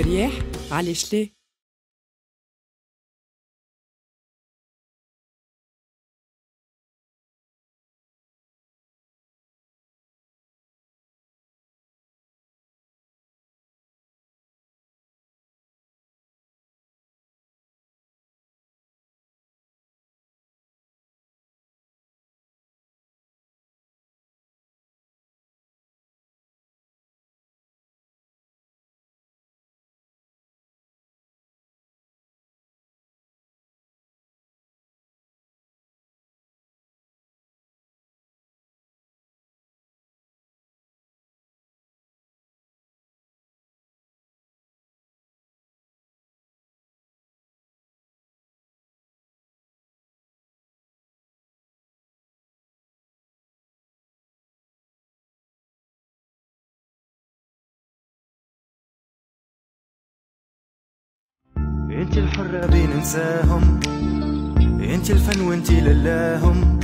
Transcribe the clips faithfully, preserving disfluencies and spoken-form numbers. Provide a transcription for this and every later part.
مرياح علاش ليه؟ انت الحرة بين نساهم، انت الفن وانت للاهم،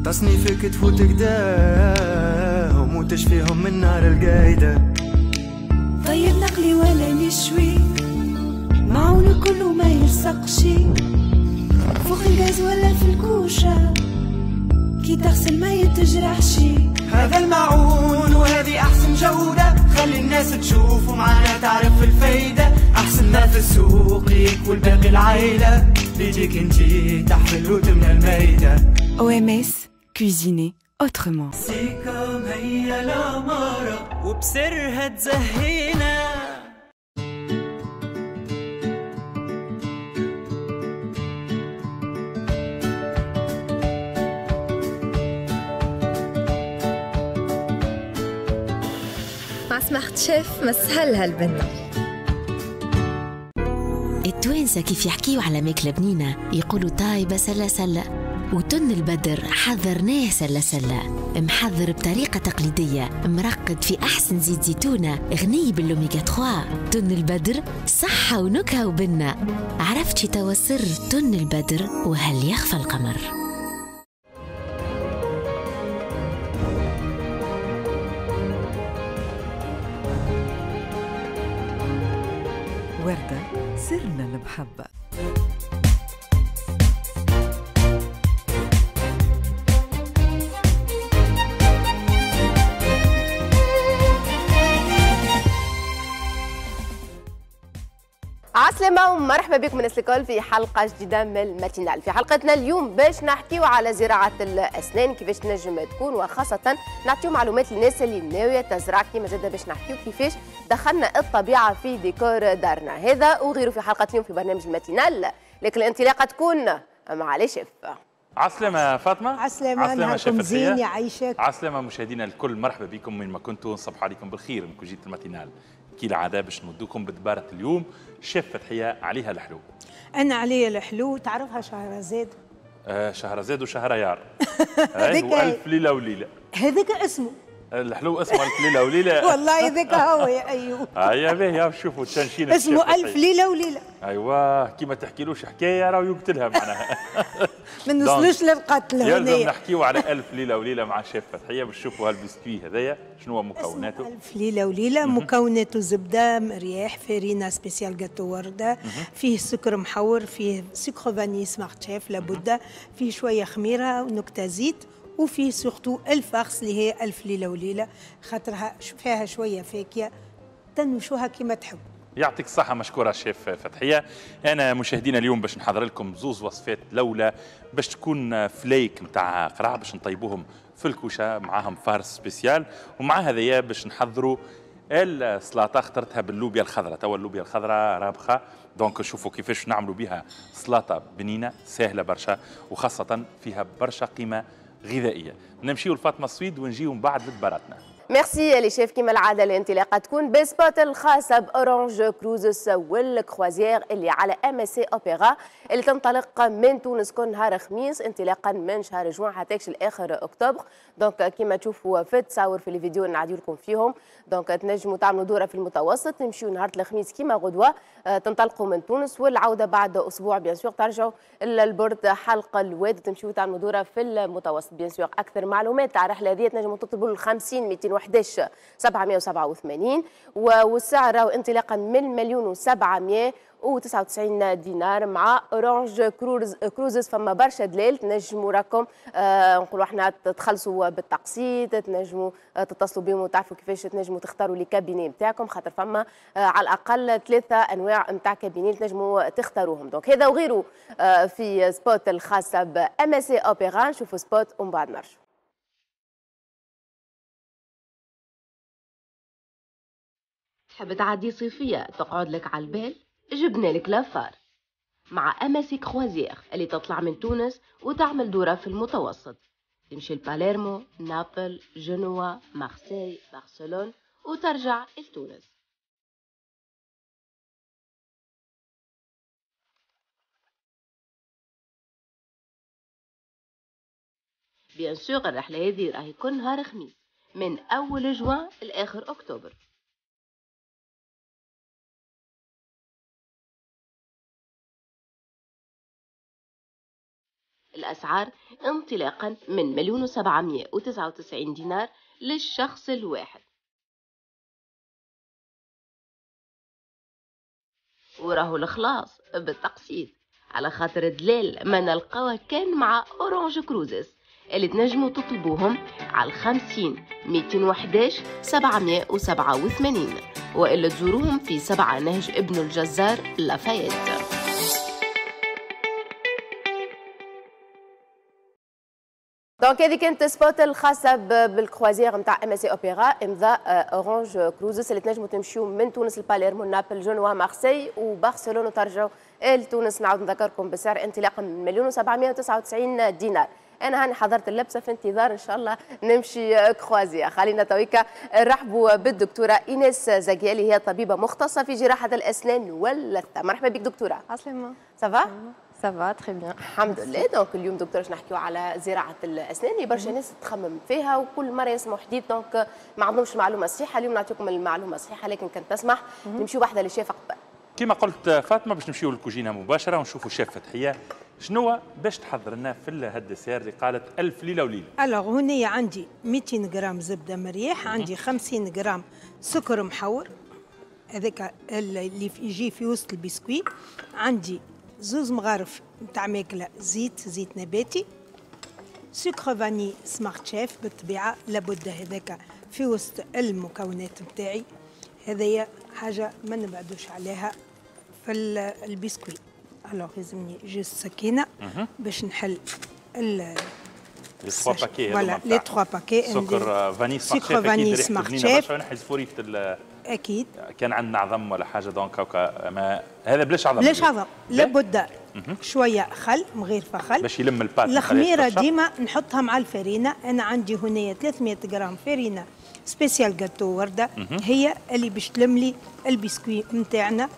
تصنيفك تفوت قداهم وتشفيهم من نار القايدة. طيب نقلي ولا نشوي، معون كله ما يلصقش، فوق الغاز ولا في الكوشة، كي تغسل ما يتجرحش. هذا المعون وهذه أحسن جودة، خلي الناس تشوف ومعانا تعرف الفايدة. أحسن ما في السوق ليك والباقي العيلة، بيديك انتي تحفل وتمنى المايدة. أو إم إس cuisiner autrement. سيكام هي العمارة وبسرها تزهينا. مع سمارت شيف مسهل هالبنة. التوانسة كيف يحكيو على ماكلة بنينة يقولوا طايبة سلة سلة، وتن البدر حذرناه سلة سلة، محذر بطريقة تقليدية، مرقد في أحسن زيت زيتونة، غني بالأوميغا ثلاثة. تن البدر صحة ونكهة وبنة. عرفتي توا سر تن البدر وهل يخفى القمر؟ وردة سرنا المحبة. عسلامة ومرحبا بكم الناس الكل في حلقة جديدة من ال matinale. في حلقتنا اليوم باش نحكيو على زراعة الأسنان كيفاش تنجم تكون، وخاصة نعطيو معلومات للناس اللي ناوية تزرع، كيما زادة باش نحكيو كيفاش دخلنا الطبيعة في ديكور دارنا. هذا وغيره في حلقة اليوم في برنامج ال matinale، لكن الانطلاقة تكون مع les chefs. عسلامة فاطمة. عسلامة، نهاركم زين يعيشك. عسلامة مشاهدينا الكل، مرحبا بكم وين ما كنتوا، نصبح عليكم بالخير من كوجينة ال matinale. كالعادة باش نودوكم بدبارة اليوم شيف فتحية عليها الحلو. أنا عليا الحلو، تعرفها شهرزاد؟ آه شهرزاد وشهريار. هذيك وألف ليلة وليلة. هذاك اسمه. الحلو اسمه ألف ليلة وليلة. والله هذاك هو يا أيوه. هيا باهي شوفوا تشنشين اسمه ألف ليلة وليلة. أيوه كيما تحكيلوش حكاية راهو يقتلها معناها. ما نوصلوش للقتل هنا. يلزم نحكيو على ألف ليلة وليلة مع شيف فتحية باش تشوفوا هالبسكوي هذايا شنو هو مكوناته. ألف ليلة وليلة مكوناته زبدة، مرياح، فرينة spéciale gâteau وردة، فيه سكر محور، فيه sucre vanillé سمارت شيف لابد، فيه شوية خميرة ونكتة زيت، وفيه surtout ال farce اللي هي ألف ليلة وليلة، خاطرها فيها شوية فاكهة تنوشوها كما تحب. يعطيك الصحة، مشكورة شيف فتحية. أنا مشاهدينا اليوم باش نحضر لكم زوز وصفات لولا باش تكون فليك نتاع قرع باش نطيبوهم في الكوشة معاهم farce spéciale، ومع هذايا باش نحضروا السلطة اخترتها باللوبيا الخضراء. توا اللوبيا الخضراء رابخة، donc شوفوا كيفاش نعملوا بها سلطة بنينة سهلة برشا وخاصة فيها برشا قيمة غذائية. نمشيو لفاطمة السويد ونجيو من بعد لدباراتنا. merci les chefs. كيما العادة الانطلاقة تكون ب spot الخاصة ب Orange Cruises وال croisière اللي على MSC Opera اللي تنطلق من تونس كل نهار خميس انطلاقا من شهر جوان حتى لاخر اكتوبر. donc كيما تشوفوا في التصاور في الفيديو نعدي لكم فيهم، donc تنجموا تعملوا دوره في المتوسط، تمشيو نهار الخميس كيما غدوه تنطلقوا من تونس، والعودة بعد اسبوع bien sûr ترجعوا لل port حلق الواد تمشيو تعملوا دوره في المتوسط. bien sûr اكثر معلومات على الرحلة هذه تنجموا تطلبوا ال خمسين مئتين مئتين وأحد عشر سبعمئة وسبعة وثمانين، والسعر راهو انطلاقا من مليون وسبعمئة وتسعة وتسعين دينار مع Orange Cruises. فما برشا دلال تنجموا راكم آه نقولوا احنا تخلصوا بالتقسيط، تنجموا آه تتصلوا بهم وتعرفوا كيفاش تنجموا تختاروا les cabinets نتاعكم، خاطر فما آه على الاقل ثلاثة انواع نتاع cabinets تنجموا تختاروهم. donc هذا وغيره آه في spot الخاصة ب MSC Opéra. نشوفوا spot ومن بعد نرجعوا. تحب تعدي صيفية تقعد لك على البال؟ جبنا لك l'affaire مع MSC Croisières اللي تطلع من تونس وتعمل دورة في المتوسط، تمشي لباليرمو، نابل، جنوا، مارسيل، برشلونة وترجع لتونس. bien sûr الرحلة هذه راهي كل نهار خميس من أول جوان لآخر أكتوبر. الأسعار انطلاقا من مليون وسبعمية وتسعة وتسعين دينار للشخص الواحد. وراهو الخلاص بالتقسيط على خاطر دلال ما نلقاوه كان مع Orange Cruises اللي تنجموا تطلبوهم على الخمسين مئتين وأحد عشر سبعمية وسبعة وثمانين، وإلا تزوروهم في سبعة نهج ابن الجزار لافايت. donc هذه كانت spot الخاصة بال croisière نتاع MSC Opéra امضاء Orange Cruises اللي تنجموا تمشيو من تونس لباليرمو، نابل، جنوا، مارسي وبرشلونة وترجعوا لتونس. نعاود نذكركم بسعر انطلاقا من مليون وسبعمية وتسعة وتسعين دينار. انا هاني حضرت اللبسه في انتظار ان شاء الله نمشي croisière. خلينا تويكا نرحبوا بالدكتورة ايناس زكيالي، هي طبيبه مختصة في جراحه الاسنان واللثه. مرحبا بك دكتورة. عسلامة. ça va؟ ça va très bien الحمد لله. donc اليوم دكتور باش نحكيو على زراعة الاسنان اللي برشا ناس تخمم فيها وكل مرة يسمعوا حديث، donc ما عندهمش المعلومة الصحيحة. اليوم نعطيكم المعلومة الصحيحة، لكن كان تسمح نمشيو واحدة للشيف قبل. كما قلت فاطمة باش نمشيو للكوجينه مباشرة ونشوفوا الشيف فتحيه شنو باش تحضر لنا في هال dessert اللي قالت ألف ليلة وليلة. alors هنا عندي مئتين غرام زبدة مريح، عندي خمسين غرام سكر محور هذاك اللي يجي في وسط البسكويت، عندي زوز مغارف نتاع ماكله زيت زيت نباتي، sucre vanillé Smart Chef بالطبيعة لابد هذاك في وسط المكونات نتاعي. هذايا حاجة ما نبعدوش عليها في ال biscuit. alors لازمني juste سكينة باش نحل ال les trois paquets، voilà les trois paquets سكر vanillé sucre vanillé Smart Chef. نحي زفورية اكيد كان عندنا عظم ولا حاجة donc هكا، ما هذا بلاش عظم، بلاش عظم لابد شوية خل مغيرفه خل باش يلم ال pâte. الخميره ديما نحطها مع الفرينة. انا عندي هنا ثلاثمية غرام فرينه spécial gâteau ورده، هي اللي باش تلم لي البسكويت نتاعنا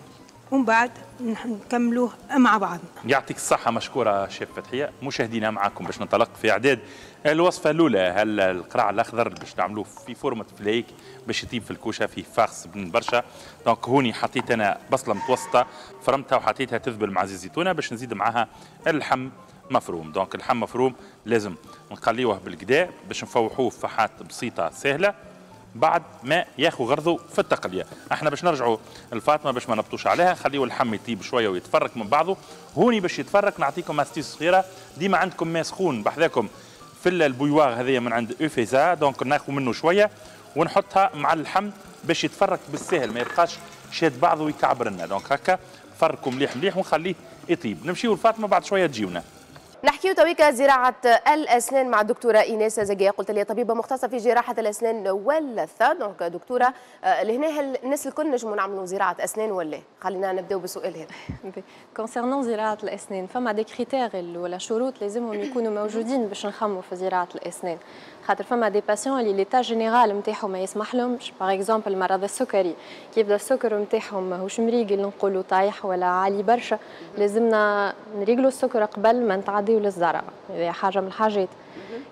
ومن بعد نكملوه مع بعضنا. يعطيك الصحة مشكورة شيف فتحية. مشاهدينا معكم باش ننطلق في إعداد الوصفة الأولى، هل القرع الأخضر باش نعملوه في فورمة فليك باش يطيب في الكوشة في farce بن برشا. donc هوني حطيت أنا بصلة متوسطة فرمتها وحطيتها تذبل مع زيت زيتونة باش نزيد معاها اللحم مفروم. donc اللحم مفروم لازم نقليوه بالكدا باش نفوحوه فحات بسيطة سهلة بعد ما ياخذ غرضه في التقليه. احنا باش نرجعوا الفاطمة باش ما نبطوش عليها، خليوا اللحم يطيب شوية ويتفرك من بعضه. هوني باش يتفرك نعطيكم astuce صغيرة، ديما عندكم ماء سخون بحذاكم في ال bouilloire هذيا من عند اوفيزا، donc ناخذ منه شوية ونحطها مع اللحم باش يتفرك بالسهل ما يبقاش شاد بعضه ويكعبر لنا. donc هكا فركوا مليح مليح ونخليه يطيب. نمشيو لفاطمة بعد شوية تجيونا. نحكيو تويكا زراعة الأسنان مع الدكتورة إيناس زكية، قلت لي طبيبة مختصة في جراحة الأسنان واللثة. donc دكتورة لهنا هل الناس الكل نجموا نعملوا زراعة أسنان ولا؟ خلينا نبداو بالسؤال هذا. concernant زراعة الأسنان فما des critères ولا شروط لازمهم يكونوا موجودين باش نخموا في زراعة الأسنان، خاطر فما des patients اللي l'état général نتاعهم ما يسمح لهمش، par exemple مرض السكري كي يبدا السكر نتاعهم ماهوش مريقل نقولوا طايح ولا عالي برشا، لازمنا نريقلوا السكر قبل ما نتعديو للزرع، هذه حاجة من الحاجات.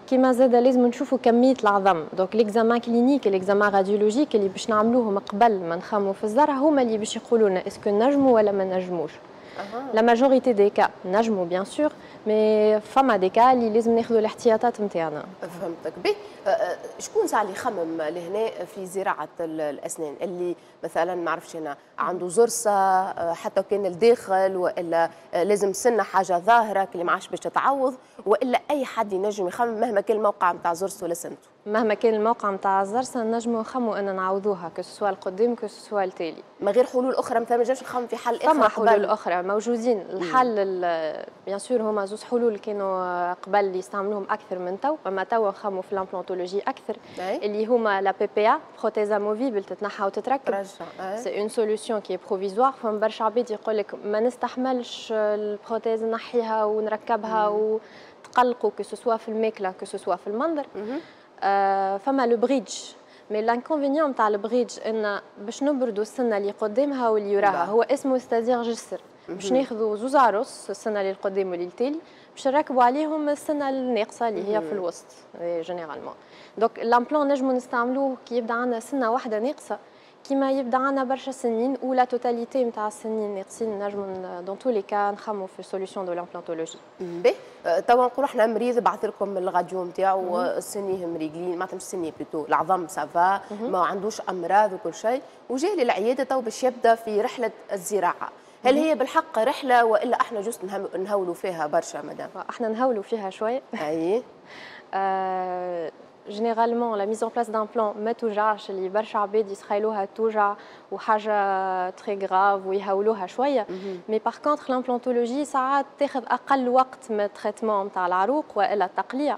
كيما زاد لازم نشوفوا كمية العظم، donc l'examen clinique l'examen radiologique اللي باش نعملوهم قبل ما نخموا في الزرع هما اللي باش يقولوا لنا est-ce que نجموا ولا ما نجموش. la majorité des cas نجموا bien sûr، mais فما des cas اللي لازم ناخذوا الاحتياطات نتاعنا. فهمتك. به شكون ساعة اللي يخمم لهنا في زراعة الاسنان، اللي مثلا ما عرفتش انا عنده زرسه حتى كان الداخل، والا لازم سنة حاجة ظاهره اللي ما عادش باش تتعوض، والا اي حد ينجم يخمم مهما كان الموقع نتاع زرسه ولا سنته؟ مهما كان الموقع نتاع الزرسه نجموا نخموا ان نعوضوها، que ce soit القدام que ce soit التالي. ما غير حلول اخرى مثلا؟ ما نجمش نخمم في حل اخر؟ فما حلول اخرى موجودين. الحل bien sûr هما زوز حلول كانوا قبل يستعملوهم اكثر من تو، اما توا نخموا في l'implantologie اكثر، اللي هما la PPA، prothèse amovible، تتنحى وتتركب. c'est une solution qui est provisoire. فما برشا عباد يقول لك ما نستحملش ال prothèse، نحيها ونركبها، وتقلقوا que ce soit في الماكلة que ce soit في المنظر. آه فما le bridge، mais l'inconvénient نتاع ال bridge ان باش نبردوا السنة اللي قدامها واللي وراها. هو اسمه c'est-à-dire جسر، باش ناخذوا زوز عروس، السنة اللي القدام واللي التالي، باش نركبوا عليهم السنة الناقصة اللي هي في الوسط généralement. donc l'implant نجموا نستعملوه كي يبدا عندنا سنة واحدة ناقصه، كيما يبدا عندنا برشا سنين ou la totalité نتاع السنين ناقصين، نجموا dans tous les cas نخمو في solution de l'implantologie. باهي، توا نقولوا احنا مريض بعث لكم الراديو نتاعو، سنية مريقلين، معناتها مش سنية plutôt العظم ça va، ما عندوش امراض وكل شيء، وجاي للعياده تو باش يبدا في رحله الزراعه. هل هي بالحق رحله والا احنا juste نهولوا فيها برشا مدام؟ احنا نهولوا فيها شويه. اي آه généralement la mise en place d'implant ما توجعش، اللي برشا عباد يتخيلوها توجع وحاجه très grave ويهولوها شويه. mais par contre l'implantologie ساعات تاخذ اقل وقت من ال traitement نتاع العروق والا التقليع،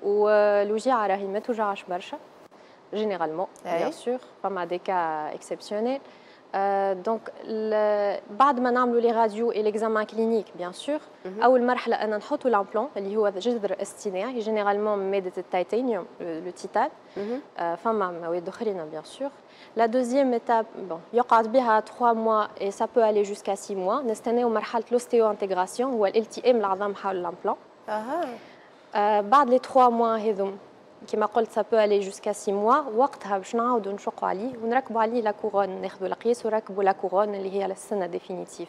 والوجيعه راهي ما توجعش برشا généralement، bien sûr فما des cas exceptionnels. donc بعد ما نعملوا les radios et l'examen clinique bien sûr، اول مرحلة ان نحطوا l'implant اللي هو جذر اصطناعي، généralement مادة التيتانيوم، le titane، فما مواد اخرين bien sûr. la deuxième étape، bon، يقعد بها trois mois et ça peut aller jusqu'à six mois. نستناو مرحلة l'ostéo-intégration، هو الالتئام العظام حول l'implant. اها بعد les trois mois هذوم، كما قلت ça peut aller jusqu'à six mois، وقتها باش نعاودوا نشقوا عليه ونركبوا عليه la couronne، ناخذوا القياس ونركبوا la couronne اللي هي السنة définitive.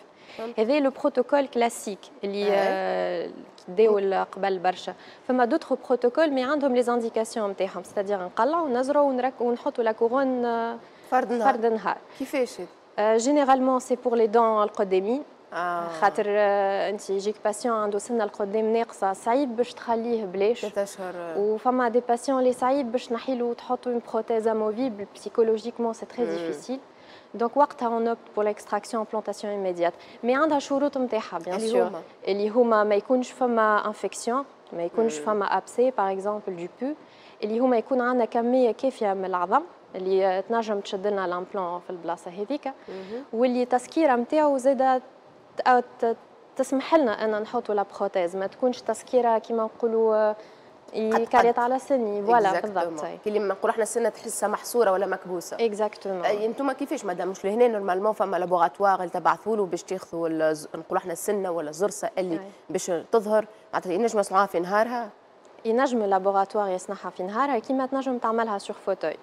هذا le protocole classique اللي داول قبل برشا. فما d'autres protocoles mais عندهم les indications نتاعهم، c'est-à-dire نقلعوا ونزرعوا ونحطوا la couronne فرد نهار. فرد نهار. كيفاش؟ généralement c'est pour les dents القدامين آه. خاطر انت يجيك patient عنده سنة القدام ناقصه، صعيب باش تخليه بلاش. ثلاثة اشهر. وفما des patients اللي صعيب باش نحيلو وتحطوا une prothèse amovible، psychologiquement c'est très difficile. donc وقتها on opte pour l'extraction implantation immédiate، mais عندها شروط نتاعها bien sûr، اللي هما ما يكونش فما infection، ما يكونش فما abcès par exemple du pus، اللي هما يكون عندنا كمية كافيه من العظم اللي تنجم تشد لنا l'implant في البلاصة هذيك، واللي تسكيره نتاعو زاده تسمح لنا ان نحطوا la prothèse، ما تكونش تسكيره كيما نقولوا يكاريت على سني، voilà بالضبط. كي اللي نقولوا احنا السنة تحسها محصورة ولا مكبوسه. exactement. انتم كيفاش مادام؟ مش لهنا normalement فما laboratoire اللي تبعثوا له باش تاخذوا نقولوا احنا السنة ولا الزرسه اللي باش تظهر، معناتها ينجم يصنعوها في نهارها؟ ينجم ال laboratoire يصنعها في نهارها، كيما تنجم تعملها sur fauteuil.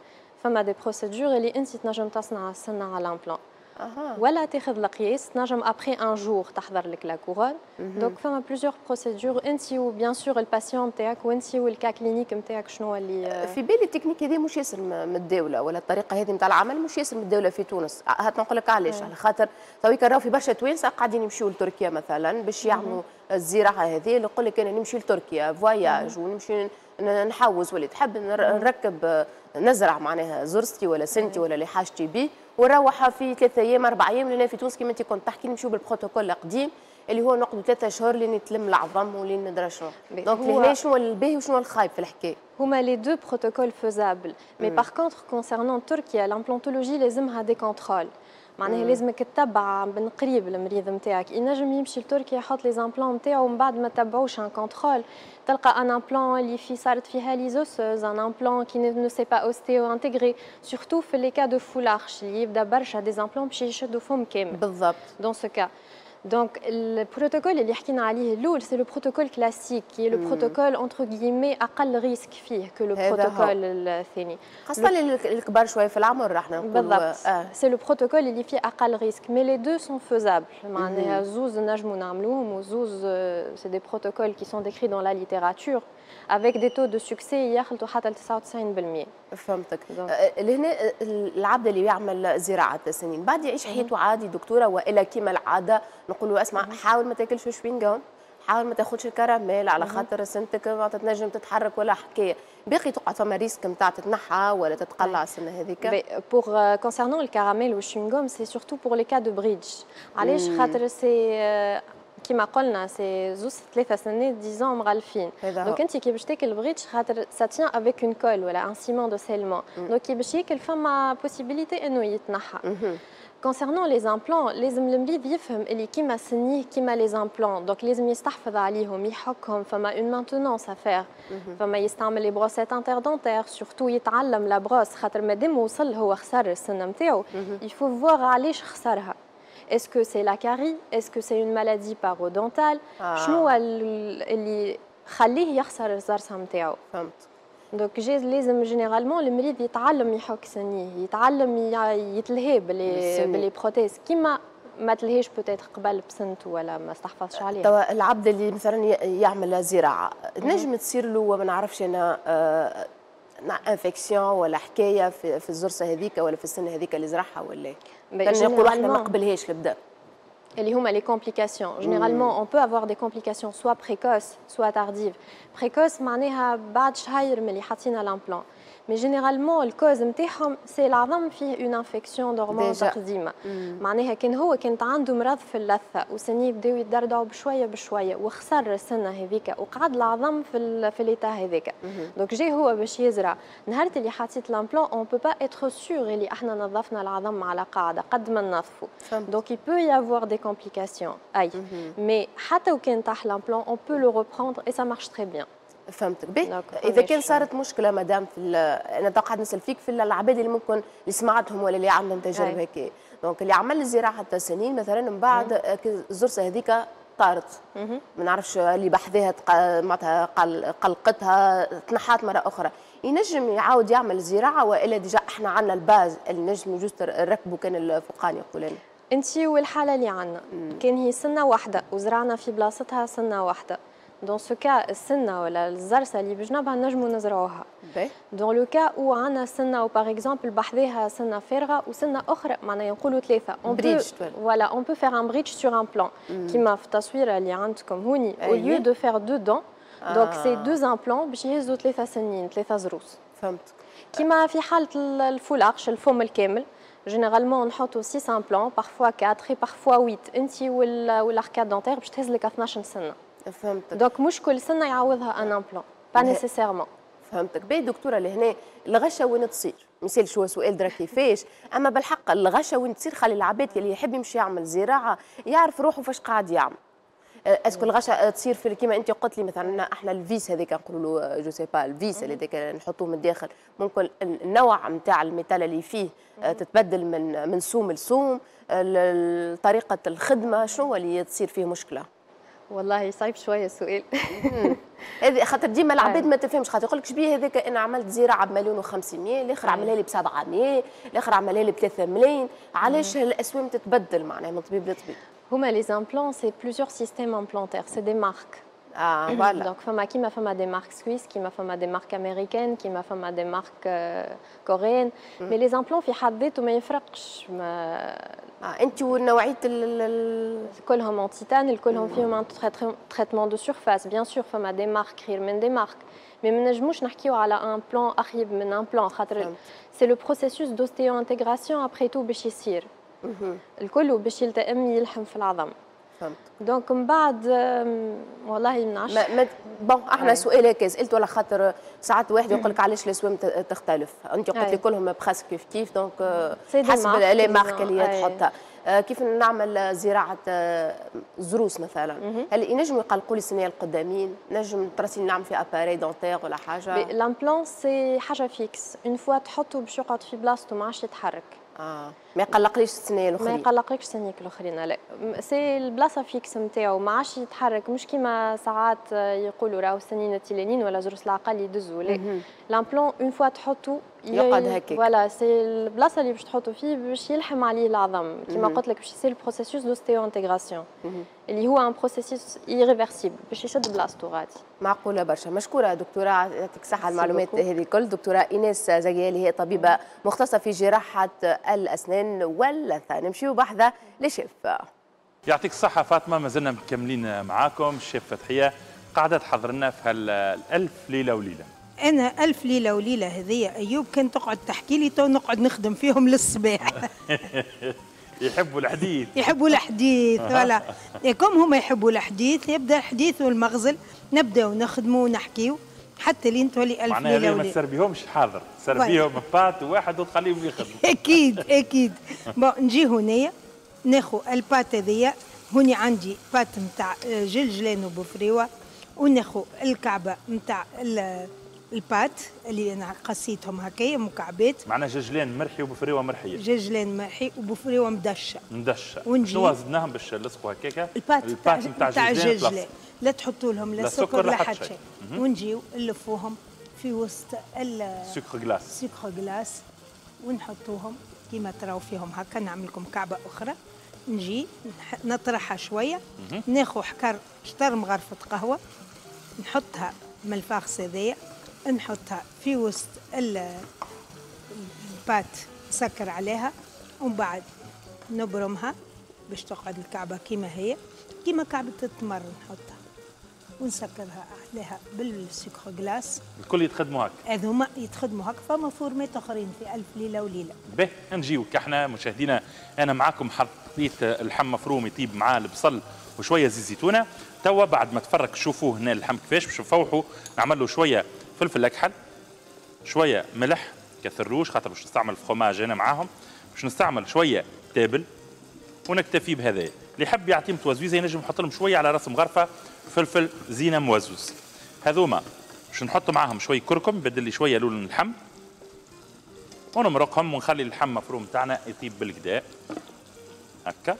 فما des procédures اللي انت تنجم تصنع السنة على l'implant أه. ولا تاخذ القياس، تنجم après un jour تحضر لك la couronne. donc فما plusieurs procédures، انت و bien sûr ال patient نتاعك وانت وال cas clinique نتاعك شنو اللي في بالي التكنيك هذه مش ياسر متداوله، ولا الطريقة هذه نتاع العمل مش ياسر متداوله في تونس. هات نقول لك علاش، على خاطر تويك راهو في برشا توانسة قاعدين يمشيو لتركيا مثلا باش يعملوا الزراعة هذه. اللي يقول لك انا نمشي لتركيا voyage ونمشي نحوس واللي تحب نركب نزرع معناها زرستي ولا سنتي ولا اللي حاجتي بيه ونروح في ثلاثة ايام اربع ايام. لنا في تونس كما انت كنت تحكي نمشيو بالبروتوكول القديم اللي هو نقعدوا ثلاثة شهور لين يتلم العظم ولين ندرى شنو. donc لهنا شنو الباهي وشنو الخايب في الحكاية؟ هما les deux protocoles faisables، mais par contre concernant تركيا، l'implantologie لازمها des contrôles، معناها لازمك تتبع من قريب المريض نتاعك. ينجم يمشي لتركيا يحط les implants نتاعو ومن بعد ما تبعوش un contrôle، تلقى un implant اللي في صارت فيها lyse osseuse، un implant qui ne s'est pas ostéo-intégré، surtout في les cas de full arch اللي يبدا برشا des implants باش يشدوا فم كامل. بالضبط. dans ce cas donc ال protocole اللي حكينا عليه الاول c'est le protocole classique qui est le protocole entre guillemets اقل risque فيه que le protocole الثاني. خاصة الكبار شوية في العمر احنا نقولوا. بالضبط، c'est le protocole اللي فيه اقل risque، mais les deux sont faisables، معناها زوز نجموا نعملوهم، وزوز c'est des protocoles qui sont décrits dans la littérature avec des taux de succès يخلطوا حتى ل تسعة وتسعين بالمية. فهمتك. لهنا العبد اللي يعمل زراعة السنين بعد يعيش حياته عادي دكتوره، والا كيما العادة نقولوا اسمع، حاول ما تاكلش شوينغوم، حاول ما تاخذش الكراميل على خاطر سنتك ما تنجم تتحرك ولا حكايه، باقي تقعد فما risque نتاع تتنحى ولا تتقلع السنة هذيك؟ pour concernant الكراميل وال chewing-gum، c'est surtout pour les cas de bridge. علاش؟ خاطر c'est كيما قلنا c'est زوز ثلاثة سنين disons مغلفين، donc انت كي باش تاكل bridge، خاطر ça tient avec une colle ولا un ciment de scellement، donc كي باش ياكل فما possibilité انه يتنحى. concernant les implants، لازم المريض يفهم اللي كيما سنية كيما les implants، donc لازم يستحفظ عليهم، يحكهم، فما une maintenance à faire، فما يستعمل les brossettes interdentaires، surtout يتعلم la brosse، خاطر مادام وصل هو خسر السنة نتاعو، il faut voir علاش خسرها، est-ce que c'est la carie؟ est-ce que c'est une maladie parodontale؟ شنو اللي خليه يخسر الزرسه نتاعو؟ فهمت. donc جيز لازم généralement المريض يتعلم يحك سنية، يتعلم يتلهي ب les ب les prothèses، كيما ما تلهيش peut-être قبل بسنته ولا ما استحفظش عليها. توا العبد اللي مثلا يعمل زراعه، نجم تصير له ما نعرفش انا آه infection ولا حكاية في, في الزرسه هذيك ولا في السنة هذيك اللي زرعها، ولا نقولوا احنا ما قبلهاش البدا؟ اللي هما les complications. Généralement, on peut avoir des complications soit précoces, soit tardives. Précoce معناها بعد شهر من اللي حطينا l'implant. mais généralement ال cause نتاعهم c'est العظم فيه une infection dormante قديمه، معناها كان هو كانت عنده مرض في اللثة وسنيه بداو يدردعوا بشوية بشوية وخسر السنة هذيك وقعد العظم في في l'état هذاك. donc جاي هو باش يزرع، نهار اللي حطيت l'implant on peut pas être sûr اللي احنا نظفنا العظم على قاعدة قد ما ننظفوا، donc il peut y avoir des complications اي، mais حتى وكان طاح l'implant on peut le reprendre et ça marche très bien. فهمتك. به اذا كان صارت مشكلة مدام في، انا قاعد نسال فيك في العباد اللي ممكن اللي سمعتهم ولا اللي عندهم تجارب هيك، donc اللي عمل زراعة سنين مثلا، من بعد الزرسه هذيك طارت، ما نعرفش اللي بحذاها معناتها قلقتها، تنحات مرة اخرى، ينجم يعاود يعمل زراعه، والا déjà احنا عندنا ال base اللي نجم juste نركبوا كان الفوقاني يقول لنا؟ انت والحالة اللي عندنا، كان هي سنة واحدة وزرعنا في بلاصتها سنة واحده، dans ce cas السنة ولا الزرسه اللي بجنبها نجموا نزرعوها. dans le cas où عندنا سنة و par exemple بحذاها سنة فارغة وسنة اخرى، معناها نقولوا ثلاثه، on bridge. voilà، on peut faire un bridge sur implant كيما في التصويره اللي عندكم هوني، au lieu de faire deux dents، donc c'est deux implants باش يهزوا ثلاثة سنين، ثلاثة زروس. فهمت. كيما في حاله ال full arch، الفم الكامل، généralement نحطوا six implants، parfois quatre، parfois huit، انت وال arcade dentaire باش تهز لك اثناش سنه. فهمتك. donc مش كل سنة يعوضها un implant، pas nécessairement. فهمتك. باهي دكتوره، لهنا الغشه وين تصير؟ مثال شو سؤال درا كيفاش، اما بالحق الغشه وين تصير؟ خلي العباد اللي يحب يمشي يعمل زراعة يعرف روحه فاش قاعد يعمل. est-ce que الغشه تصير في كيما انت قلت لي مثلا احنا ال vis هذيك نقولوا له je sais pas ال vis اللي هذاك نحطوه من الداخل، ممكن النوع نتاع ال métal اللي فيه تتبدل من من سوم لسوم، طريقه الخدمه، شنو اللي تصير فيه مشكلة؟ والله صعيب شوية السؤال. هذه خاطر ديما العباد ما تفهمش، خاطر يقول لك شبيه هذاك انا عملت زراعة بمليون وخمسمية، الاخر عملها لي ب سبعمية، الاخر عملها لي ب ثلاثة ملايين، علاش الاسوام تتبدل معناها من طبيب لطبيب؟ هما les implants c'est plusieurs systèmes implantaires، c'est des marques. اه voilà. donc فما كيما فما des marques suisses، كيما فما des marques américaines، كيما فما des marques coréennes، mais les implants في حد ذاته ما يفرقش ما آه انت ونوعية ال كلهم en titane، كلهم فيهم un traitement de surface. bien sûr فما des marques خير من des marques، mais ما نجموش نحكيو على implant اخيب من implant، خاطر c'est le processus d'ostéo-intégration après tout باش يصير الكل باش يلتئم يلحم في العظم. فهمت. donc من بعد والله ما نعرفش. ما bon احنا سؤال هكا سالت ولا خاطر ساعات واحد يقول لك علاش الاسوام تختلف، انت قلت لي كلهم presque كيف كيف، donc حسب les marques اللي تحطها. كيف نعمل زراعة زروس مثلا، هل ينجموا يقلقوا لي السنية القدامين؟ نجم تراسيني نعمل في appareil dentaire ولا حاجة؟ l'implant c'est حاجة fixe، une fois تحطه باش يقعد في بلاصتو ما عادش يتحرك. اه ما يقلقليش السنين الاخرين. ما يقلقلكش سنيك الاخرين، لا c'est البلاصة fixe نتاعو ما عادش يتحرك، مش كيما ساعات يقولوا راهو السنين التيلانين ولا زروس العقل يدزوا، لا l'implant une fois تحطو يقعد هكاك. voilà c'est البلاصة اللي باش تحطو فيه باش يلحم عليه العظم، كيما قلت لك باش يصير ال processus d'ostéo-intégration اللي هو un processus irréversible باش يشد بلاصتو غادي. معقولة برشا. مشكورة دكتورة، يعطيك الصحة المعلومات هذه الكل. دكتورة ايناس زكيالي هي طبيبه مختصة في جراحه الاسنان واللثه. نمشيو بحذا لشيف. يعطيك الصحة فاطمة، مازلنا مكملين معاكم. الشيف فتحيه قاعدة تحضر لنا في هالألف ليلة وليلة. أنا ألف ليلة وليلة هذيا أيوب كان تقعد تحكي لي تو نقعد نخدم فيهم للصباح. يحبوا الحديث. يحبوا الحديث voilà، comme هما يحبوا الحديث يبدا الحديث والمغزل، نبداو نخدموا ونحكيو حتى لين تولي ألف ليلة وليلة. ما تسربيهمش حاضر، تسربيهم pâte واحد وتخليهم يخدموا. أكيد أكيد. bon نجي هنايا ناخذ ال pâte هذيا، هوني عندي pâte نتاع جلجلان وبوفريوه، وناخذ الكعبة نتاع ال pâte اللي انا قصيتهم هكايا مكعبات. معناها جلجلان مرحي وبفريوه مرحيه. جلجلان مرحي وبفريوه مدشه. مدشه. شنو زدناهم باش نلصقوا هكاكا؟ ال pâte نتاع الجلجلان، لا تحطوا لهم لا سكر لا حتى شيء. ونجيو نلفوهم في وسط ال sucre glace. sucre glace ونحطوهم كيما تراو فيهم هكا. نعمل لكم كعبه اخرى، نجي نطرحها شوية، ناخذ حكر شطر مغرفه قهوة نحطها من ال farce هذايا، نحطها في وسط ال pâte، نسكر عليها ومن بعد نبرمها باش تقعد الكعبة كيما هي، كيما كعبة التمر نحطها ونسكرها عليها بال sucre glace. الكل يتخدموا هكا؟ هذوما يتخدموا هكا، فما فورمات اخرين في ألف ليلة وليلة. به نجيو كحنا مشاهدينا، أنا معاكم حطيت اللحم مفروم يطيب معاه البصل وشوية زيت زيتونة. توا بعد ما تفرك شوفوه هنا اللحم كيفاش باش نفوحوا، نعمل له شوية فلفل اكحل، شوية ملح كثروش خاطر باش نستعمل فخوماج انا معاهم، باش نستعمل شوية تابل ونكتفي بهذا. اللي يحب يعطيهم توزويزه ينجم يحط لهم شوية على راس مغرفه فلفل زينة موزوز. هذوما باش نحط معاهم شوية كركم بدل لي شوية لون اللحم، ونمرقهم ونخلي اللحم مفروم تاعنا يطيب بالكدا هكا.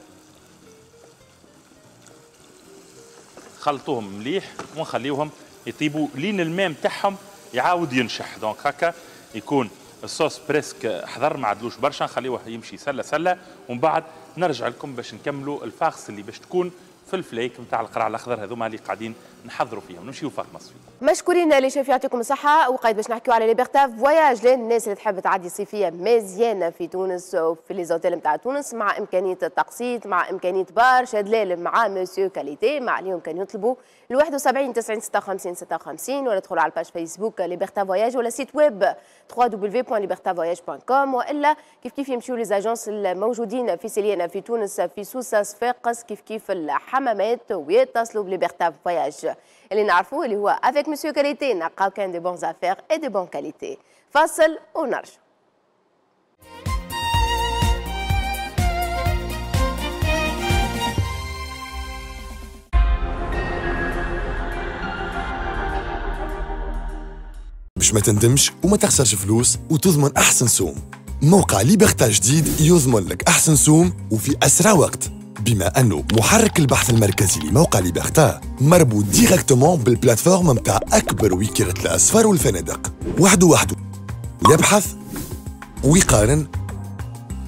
خلطوهم مليح ونخليوهم يطيبوا لين الماء نتاعهم يعاود ينشح. donc هكا يكون ال sauce presque حضر، ما عدلوش برشا، نخليوه يمشي سله سله، ومن بعد نرجع لكم باش نكملوا ال farce اللي باش تكون في الفليك نتاع القرع الاخضر هذوما اللي قاعدين نحضروا فيهم. نمشيو فاطمة الصفي. مشكورين les chefs، يعطيكم الصحة. وقايد باش نحكيو على Liberta Voyages للناس اللي تحب تعدي صيفية مزيانه في تونس وفي les hôtels نتاع تونس، مع امكانية التقسيط، مع امكانية برشا دلال مع Monsieur Qualité. مع اليوم كان يطلبوا ال واحد وسبعين تسعين ستة وخمسين ستة وخمسين، ولا تدخلوا على ال page Facebook Liberta Voyages ولا site web دبليو دبليو دبليو دوت ليبرتا فواياج دوت كوم، والا كيف كيف يمشيو les agences الموجودين في سليانه في تونس، في سوسة، صفاقس، كيف كيف الحمامات، ويتصلوا ب Liberta Voyages اللي نعرفوه اللي هو avec Monsieur Qualité نلقاو كان des bonnes affaires et des bonnes qualités. فاصل ونرجع. باش ما تندمش وما تخسرش فلوس وتضمن احسن سوم، موقع Liberta جديد يضمن لك احسن سوم وفي اسرع وقت، بما انه محرك البحث المركزي لموقع Liberta مربوط directement بال plateforme نتاع اكبر وكالة الاسفار والفنادق، وحده وحده يبحث ويقارن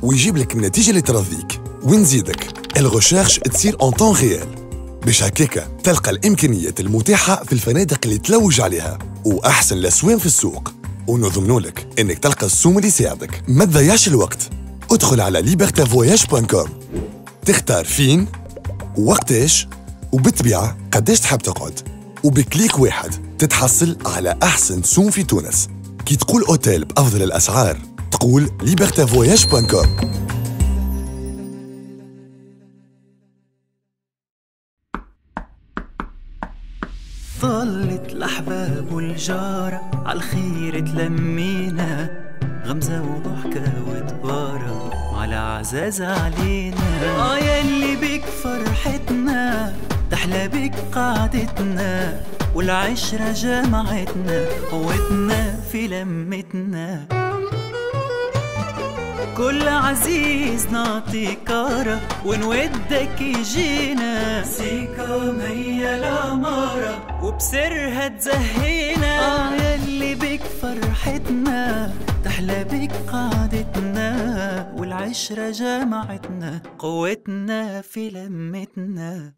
ويجيب لك النتيجة اللي ترضيك. ونزيدك ال recherche تصير en temps réel، باش هكاكا تلقى الامكانيات المتاحة في الفنادق اللي تلوج عليها واحسن الاسوام في السوق، ونضمنوا لك انك تلقى السوم اللي يساعدك. ما تضيعش الوقت، ادخل على ليبرتا فواياج دوت كوم، تختار فين ووقتاش وبالطبيعة قداش تحب تقعد، وب clic واحد تتحصل على أحسن سوم في تونس. كي تقول أوتيل بأفضل الأسعار تقول ليبرتا فواياج دوت كوم. طلت الأحباب والجارة عالخير تلمينا، غمزة وضحكة وتبارة على عزاز علينا. آه يلي بك فرحتنا تحلى بك قعدتنا، والعشرة جمعتنا قوتنا في لمتنا. وكل عزيز نعطي كارة ونودك يجينا. سيكام هي العمارة وبسرها تزهينا. آه يلي بك فرحتنا تحلى بك قعدتنا، والعشرة جمعتنا قوتنا في لمتنا.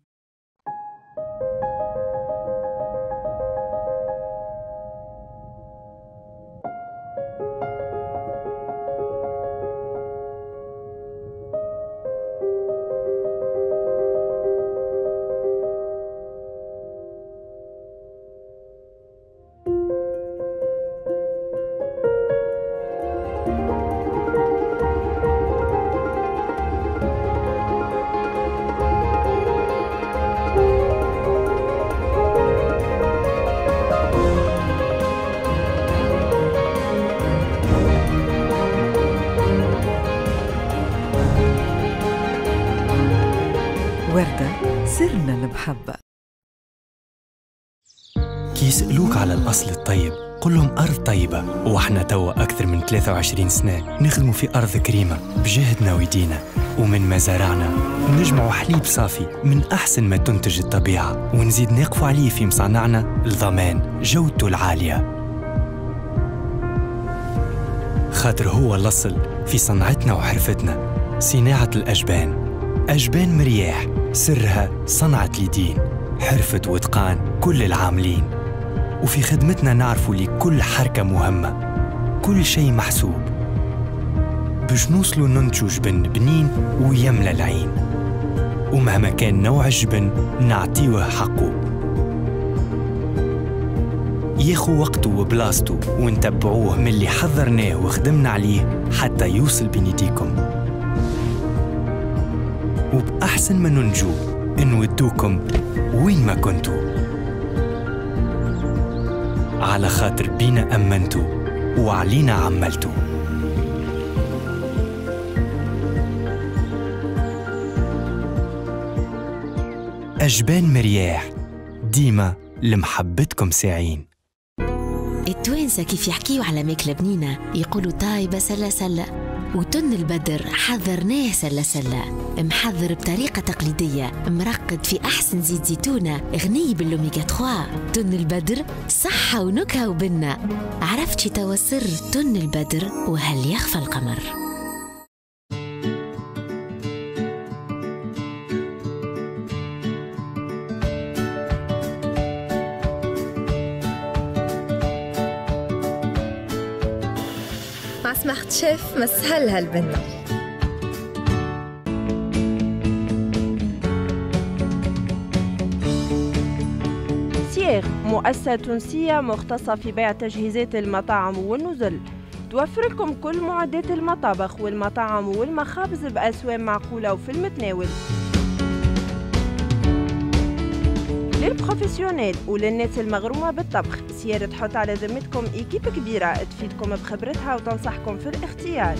وردة سرنا المحبة. كي يسألوك على الأصل الطيب قل لهم أرض طيبة، وإحنا توا أكثر من ثلاثة وعشرين سنة نخدموا في أرض كريمة بجهدنا ويدينا، ومن مزارعنا نجمعوا حليب صافي من أحسن ما تنتج الطبيعة، ونزيد نقفوا عليه في مصانعنا لضمان جودته العالية، خاطر هو الأصل في صنعتنا وحرفتنا. صناعة الأجبان، أجبان مرياح سرها صنعة اليدين، حرفة وإتقان كل العاملين، وفي خدمتنا نعرفوا لكل حركة مهمة، كل شيء محسوب باش نوصلوا ننتجوا جبن بنين ويملى العين، ومهما كان نوع الجبن نعطيوه حقه، ياخو وقته وبلاصته، ونتبعوه من اللي حضرناه وخدمنا عليه حتى يوصل بين يديكم. وبأحسن ما ننجو نودوكم وين ما كنتوا، على خاطر بينا أمنتوا وعلينا عملتوا. أجبان مرياح ديما لمحبتكم ساعين. التوانسة كيف يحكيوا على ماكلة بنينة يقولوا طايبة سلة سلة، وتن البدر حذرناه سلة سلة، محذر بطريقة تقليدية، مرقد في أحسن زيت زيتونة، غني بالأوميغا ثلاثة. تن البدر صحة ونكهة وبنة. عرفتي توا سر تن البدر وهل يخفى القمر؟ مع سمارت شيف مسهل هالبنة. سيغ مؤسسة تونسية مختصة في بيع تجهيزات المطاعم والنزل، توفر لكم كل معدات المطابخ والمطاعم والمخابز بأسوام معقولة وفي المتناول. لل professionnels وللناس المغرومة بالطبخ، سيارة تحط على ذمتكم équipe كبيرة تفيدكم بخبرتها وتنصحكم في الاختيار.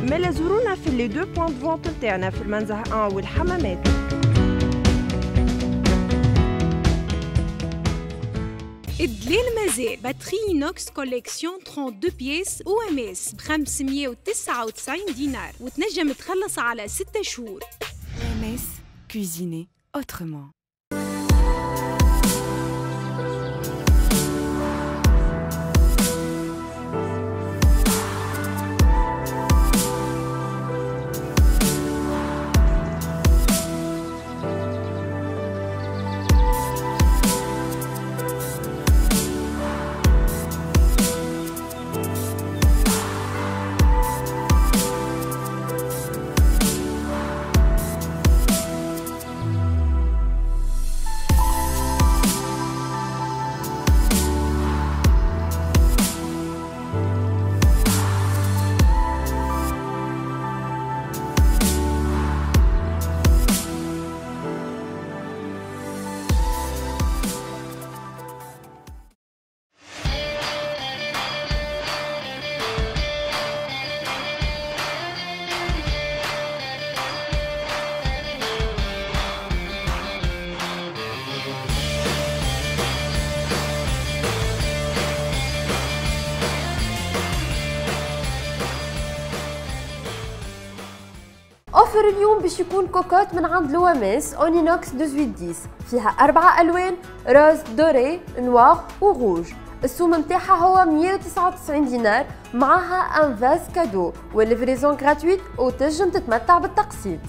مالا زورونا في les deux points de vente نتاعنا في المنزه واحد والحمامات. الدليل مازال batterie inox collection اثنين وثلاثين pièces OMS ب خمسمية وتسعة وتسعين دينار وتنجم تخلص على ستة شهور. OMS, cuisiner autrement. offre اليوم باش يكون كوكوت من عند l'OMS en inox ثمانية عشر عشرة، فيها أربعة ألوان، rose، doré، noir و روج. السوم نتاعها هو مية وتسعة وتسعين دينار، معاها un vase cadeau وال livraison gratuite، وتنجم تتمتع بالتقسيط.